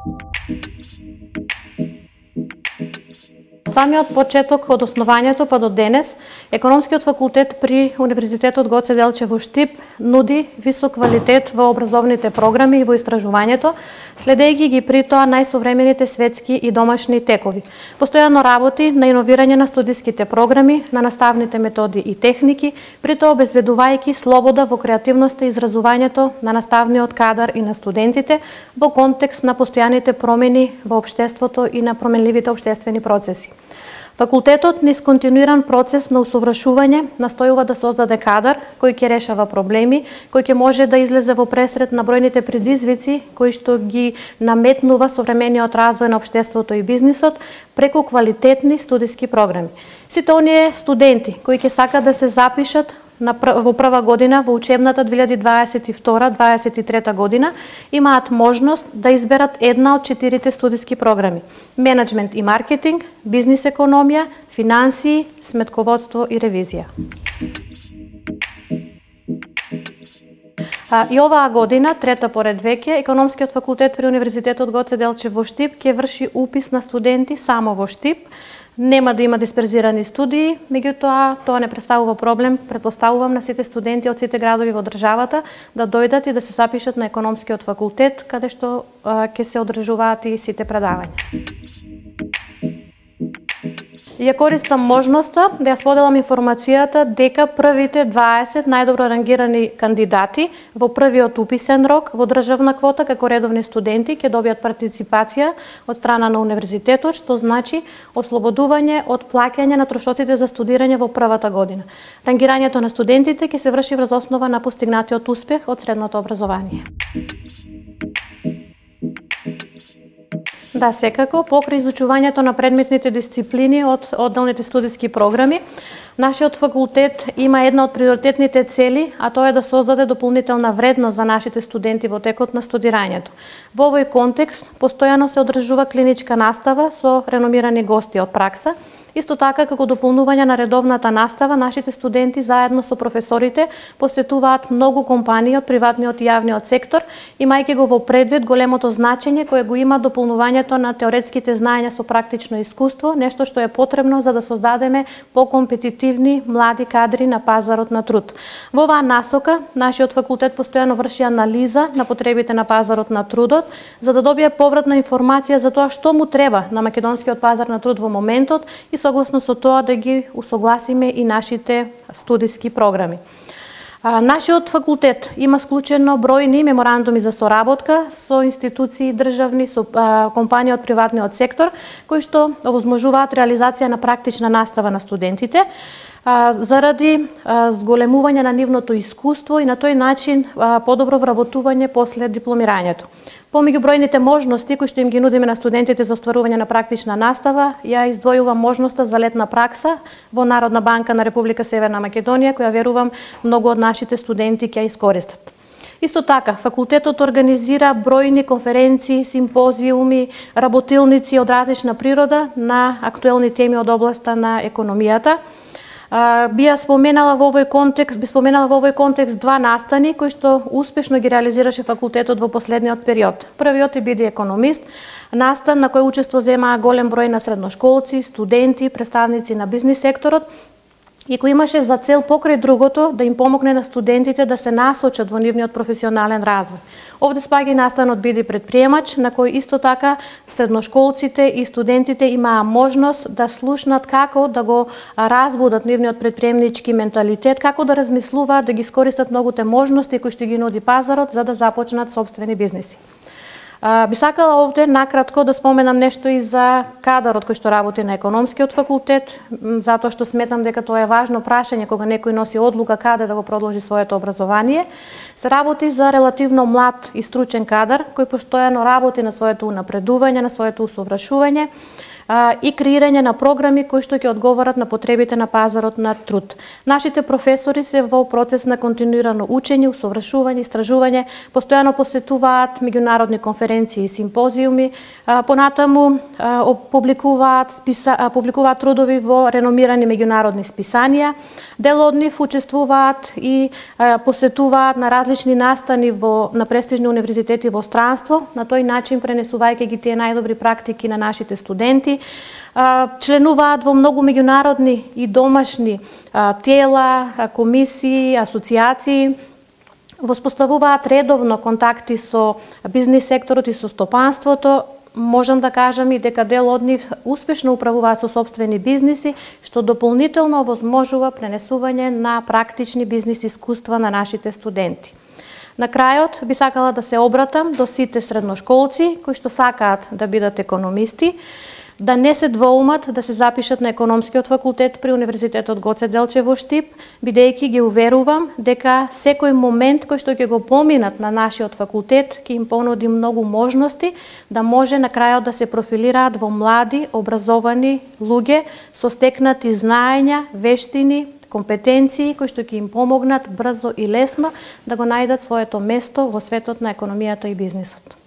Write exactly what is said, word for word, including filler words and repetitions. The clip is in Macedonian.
Од самиот почеток, од основањето па до денес, Економскиот факултет при Универзитетот Гоце Делчев во Штип нуди висок квалитет во образовните програми и во истражувањето, следејќи ги при тоа најсовремените светски и домашни текови. Постојано работи на иновирање на студиските програми, на наставните методи и техники, при тоа обезбедувајќи слобода во креативноста и изразувањето на наставниот кадар и на студентите во контекст на постојаните промени во општеството и на променливите општествени процеси. Факултетот низ континуиран процес на усовршување настојува да создаде кадар кој ќе решава проблеми, кој ќе може да излезе во пресред на бројните предизвици кои што ги наметнува современиот развој на општеството и бизнисот преку квалитетни студиски програми. Сите оние студенти кои ќе сакат да се запишат на пр... во прва година во учебната две илјади дваесет и втора - дваесет и трета година имаат можност да изберат една од четирите студиски програми: менеджмент и маркетинг, бизнис економија, финансии, сметководство и ревизија. А, и оваа година, трета поред веќе, Економскиот факултет при Универзитетот Гоце Делчев во Штип ќе врши упис на студенти само во Штип. Нема да има дисперзирани студии, меѓутоа тоа не представува проблем. Претпоставувам на сите студенти од сите градови во државата да дојдат и да се запишат на Економскиот факултет, каде што ќе се одржуваат и сите предавања. Ја користам можноста да ја споделам информацијата дека првите дваесет најдобро рангирани кандидати во првиот уписен рок во државна квота како редовни студенти ќе добијат партиципација од страна на универзитетот, што значи ослободување од плаќање на трошоците за студирање во првата година. Рангирањето на студентите ќе се врши врз основа на постигнатиот успех од средното образование. Да, секако, покрај изучувањето на предметните дисциплини од одделните студиски програми, нашиот факултет има една од приоритетните цели, а тоа е да создаде дополнителна вредност за нашите студенти во текот на студирањето. Во овој контекст, постојано се одржува клиничка настава со реномирани гости од пракса. Исто така, како дополнување на редовната настава, нашите студенти заедно со професорите посетуваат многу компании од приватниот и јавниот сектор, имајќи го во предвид големото значење кое го има дополнувањето на теоретските знаења со практично искуство, нешто што е потребно за да создадеме покомпетитивни млади кадри на пазарот на труд. Во оваа насока, нашиот факултет постојано врши анализа на потребите на пазарот на трудот, за да добие повратна информација за тоа што му треба на македонскиот пазар на труд во моментот и согласно со тоа да ги усогласиме и нашите студиски програми. А, нашиот факултет има склучено бројни меморандуми за соработка со институции државни, со а, компании од приватниот сектор, кои што овозможуваат реализација на практична настава на студентите, а, заради а, зголемување на нивното искуство и на тој начин а, подобро вработување после дипломирањето. Помеѓу бројните можности кои што им ги нудиме на студентите за остварување на практична настава, ја издвојувам можноста за летна пракса во Народна банка на Република Северна Македонија, која верувам многу од нашите студенти ќе ја искористат. Исто така, факултетот организира бројни конференции, симпозиуми, работилници од различна природа на актуелни теми од областа на економијата. Би ја споменала во овој контекст, би споменала во овој контекст два настани кои што успешно ги реализираше факултетот во последниот период. Првиот е биди економист, настан на кој учество земаа голем број на средношколци, студенти, представници на бизнис секторот, и кој имаше за цел покрај другото да им помогне на студентите да се насочат во нивниот професионален развој. Овде спаѓа и настанот биди предприемач, на кој исто така средношколците и студентите имаа можност да слушнат како да го разбудат нивниот предприемнички менталитет, како да размислуваат, да ги искористат многуте можности кои што ги нуди пазарот за да започнат сопствени бизниси. Би сакала овде накратко да споменам нешто и за кадарот кој што работи на Економскиот факултет, затоа што сметам дека тоа е важно прашање кога некој носи одлука каде да го продолжи своето образование. Се работи за релативно млад и стручен кадар кој постојано работи на своето унапредување, на своето усовршување. и креирање на програми кои што ќе одговорат на потребите на пазарот на труд. Нашите професори се во процес на континуирано учење, усовршување, истражување, постојано посетуваат меѓународни конференции и симпозиуми, понатаму публикуваат списа, публикуваат трудови во реномирани меѓународни списанија. Дел од нив учествуваат и посетуваат на различни настани во на престижни универзитети во странство, на тој начин пренесувајќи ги тие најдобри практики на нашите студенти. Членуваат во многу меѓународни и домашни тела, комисии, асоциации, воспоставуваат редовно контакти со бизнис секторот и со стопанството. Можам да кажам и дека дел од нив успешно управуваат со сопствени бизниси, што дополнително возможува пренесување на практични бизнис искуства на нашите студенти. На крајот би сакала да се обратам до сите средношколци кои што сакаат да бидат економисти, да не се двоумат да се запишат на економскиот факултет при Универзитетот Гоце Делчев во Штип, бидејќи ги уверувам дека секој момент кој што ќе го поминат на нашиот факултет ќе им понуди многу можности да може на крајот да се профилираат во млади, образовани луѓе со стекнати знаења, вештини, компетенции кои што ќе им помогнат брзо и лесно да го најдат своето место во светот на економијата и бизнисот.